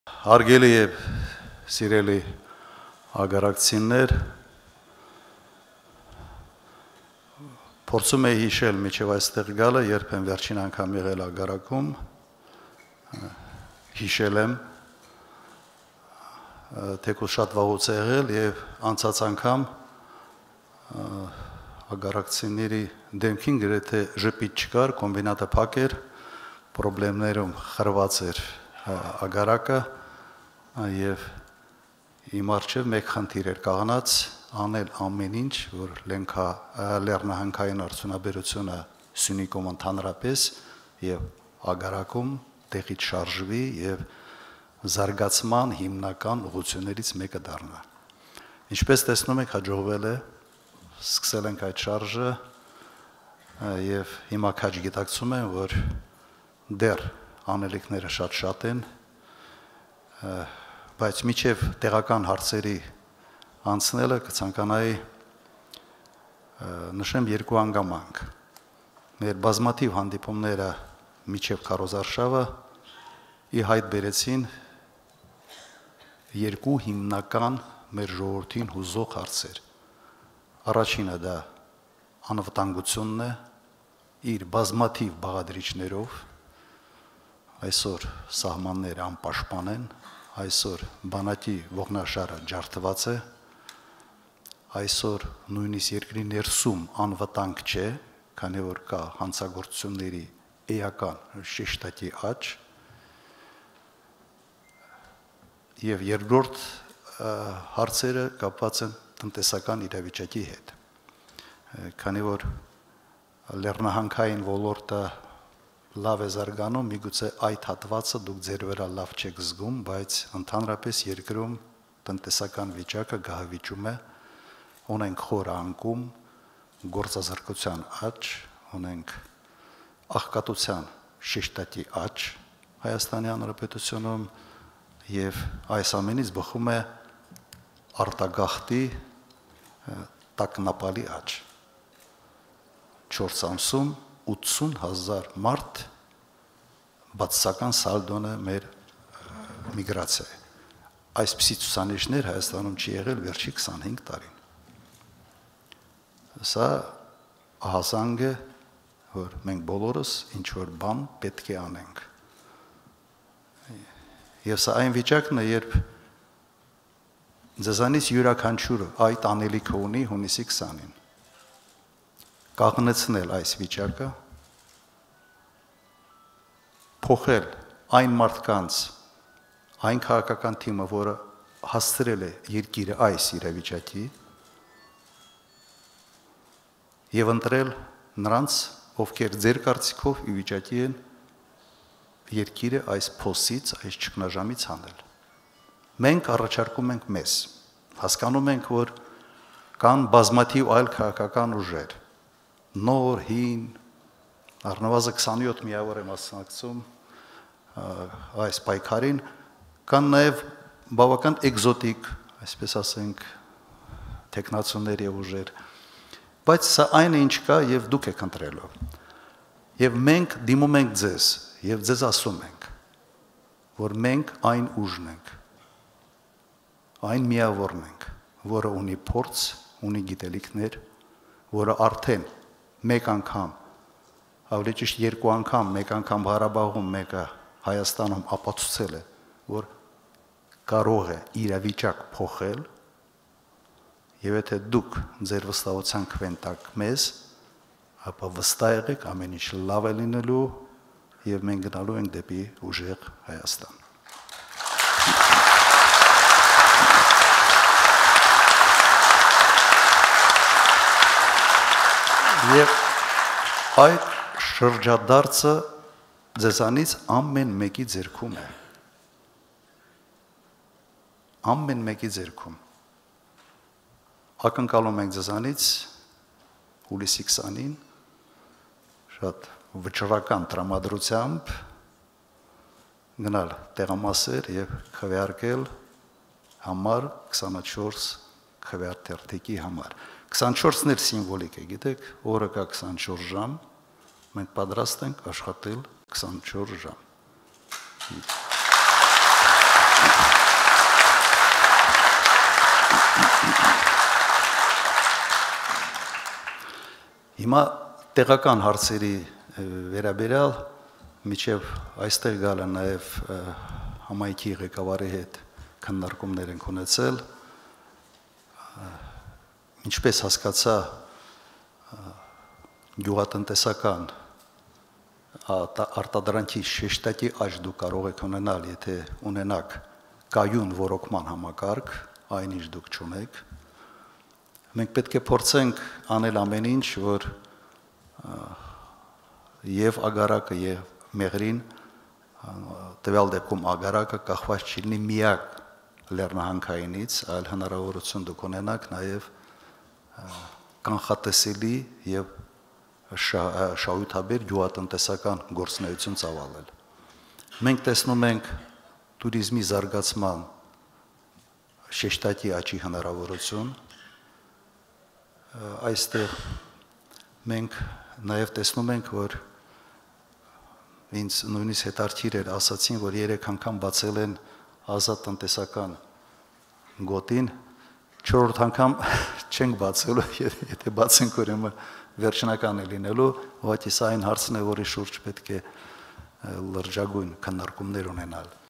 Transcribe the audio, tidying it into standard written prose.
Հարգելի եւ սիրելի ագարակցիներ, փորձում եի հիշել միջև այստեղ գալը, երբ եմ վերջին անգամ եղել ագարակում, հիշել եմ, թեկուզ շատ վաղուց է եղել եւ անցած անգամ ագարակցիների դեմքին գրեթե ժպիտ չկար, կոմբինատը փակ էր, պրոբլեմներում խրված էր ագարակը եւ իմ առջեւ մեկ խնդիր էր կաղանած անել ամեն ինչ, որ լեռնահանքային արդյունաբերությունը Սյունիքում ընդհանրապես եւ ագարակում տեղից շարժվի եւ զարգացման հիմնական ուղղություններից մեկը դառնա։ Ինչպես տեսնում եք, հաջողվել է, սկսել ենք այդ շարժը եւ հիմա քաջ գիտակցում եմ, որ դեռ անելիքները շատ են, բայց միջև տեղական հարցերի անցնելը կցանկանայի նշեմ երկու անգամանք։ Մեր բազմաթիվ հանդիպումները միջև քարոզարշավը ի հայտ բերեցին երկու հիմնական մեր ժողովրդին հուզող հարցեր։ Առաջինը դա անվտանգությունն է իր բազմաթիվ բաղադրիչներով, այսօր սահմանները անպաշտպան են, այսօր բանակի ողնաշարը ջարդված է, այսօր նույնիսկ երկրի ներսում անվտանգ չէ, քանի որ կա հանցագործությունների էական շեշտակի աճ, եւ երկրորդ հարցերը կապված են տնտեսական իրավիճակի հետ, քանի որ լեռնահանքային ոլորտը լավ է զարգանում, միգուցե այդ հատվածը դուք ձեր վրա լավ չեք զգում, բայց ընդհանրապես երկրում տնտեսական վիճակը գահավիճում է, ունենք խոր անկում, գործազրկության աճ, ունենք աղքատության շեշտակի աճ Հայաստանի Հանրապետությունում եւ այս ամենից բխում է արտագաղթի տագնապալի աճ։ 4 ամսում 80,000 մարդ բացասական սալդոն է մեր միգրացիա։ Այսպիսի ցուցանիշներ Հայաստանում չի եղել վերջի 25 տարին։ Սա ահազանգ է, որ մենք բոլորս ինչ որ բան պետք է անենք։ Եվ սա այն վիճակն է, երբ ձեզանից յուրաքանչյուրը այդ անելիքը ունի հունիսի 20-ին։ Կաղնեցնել այս վիճակը, փոխել այն մարդկանց, այն քաղաքական թիմը, որը հասցրել է երկիրը այս իրավիճակի, եւ ընտրել նրանց, ովքեր ձեր կարծիքով ի վիճակի են երկիրը այս փոսից, այս ճգնաժամից հանել։ Մենք առաջարկում ենք մեզ, հասկանում ենք, որ կան բազմաթիվ այլ քաղաքական ուժեր, նոր, հին, առնվազն 27 միավոր եմ մասնակցում այս պայքարին, կան նաև բավական էկզոտիկ, այսպես ասենք, տեխնացուներ եւ ուժեր, բայց սա այն է, ինչ կա եւ դուք եք ընտրելու։ Եվ մենք դիմում ենք ձեզ եւ ձեզ ասում ենք, որ մենք այն ուժն ենք, այն միավորն ենք, որը ունի փորձ, ունի գիտելիքներ, որը արդեն մեկ անգամ, ավելի ճիշտ երկու անգամ, մեկ անգամ Ղարաբաղում, մեկը Հայաստանում ապացուցել է, որ կարող է իրավիճակ փոխել, եւ եթե դուք ձեր վստահության կվենտակ մեզ, ապա վստահ եղեք ամեն ինչ լավ է լինելու եւ մենք գնալու ենք դեպի ուժեղ Հայաստան։ Եվ այդ շրջադարձը ձեզանից ամեն մեկի ձեռքում է։ Ամեն մեկի ձեռքում։ Ակնկալում ենք ձեզանից հուլիսի 20-ին շատ վճռական տրամադրությամբ գնալ տեղամասեր եւ քվեարկել համար 24 քվեարտերտիկի համար։ 24-ն էլ սիմվոլիկ է, գիտեք, օրը կա 24 ժամ, մենք պատրաստ ենք աշխատել 24 ժամ։ Հիմա տեղական հարցերի վերաբերյալ միջև այստեղ գալը նաև համայնքի ղեկավարի հետ քննարկումներ ենք ունեցել, ինչպես հասկացա գյուղատնտեսական արտադրանքի շեշտակի աճ դու կարող եք ունենալ, եթե ունենաք կայուն ռոռոկման համակարգ, այնինչ դուք չունեք։ Մենք պետք է փորձենք անել ամեն ինչ, որ եւ ագարակը եւ մեղրին տվյալ դեպքում ագարակը կախված չլինի միակ լեռնահանքայինից, այլ հնարավորություն դուք ունենաք նաեւ կանխատեսելի եւ շահութաբեր գյուղատնտեսական գործունեություն ծավալել։ Մենք տեսնում ենք туриզմի զարգացման շեշտակի աճի հնարավորություն։ Այստեղ մենք նաև տեսնում ենք, որ ինձ նույնիսկ հետաքրքիր էր, ասացին, որ 3 անգամ բացել են ազատ տնտեսական գոտին, 4-րդ անգամ չենք բացելու, եթե բացենք, ուրեմն վերջնական է լինելու, ուղղակի սա այն հարցն է, որի շուրջ պետք է լրջագույն քննարկումներ ունենալ։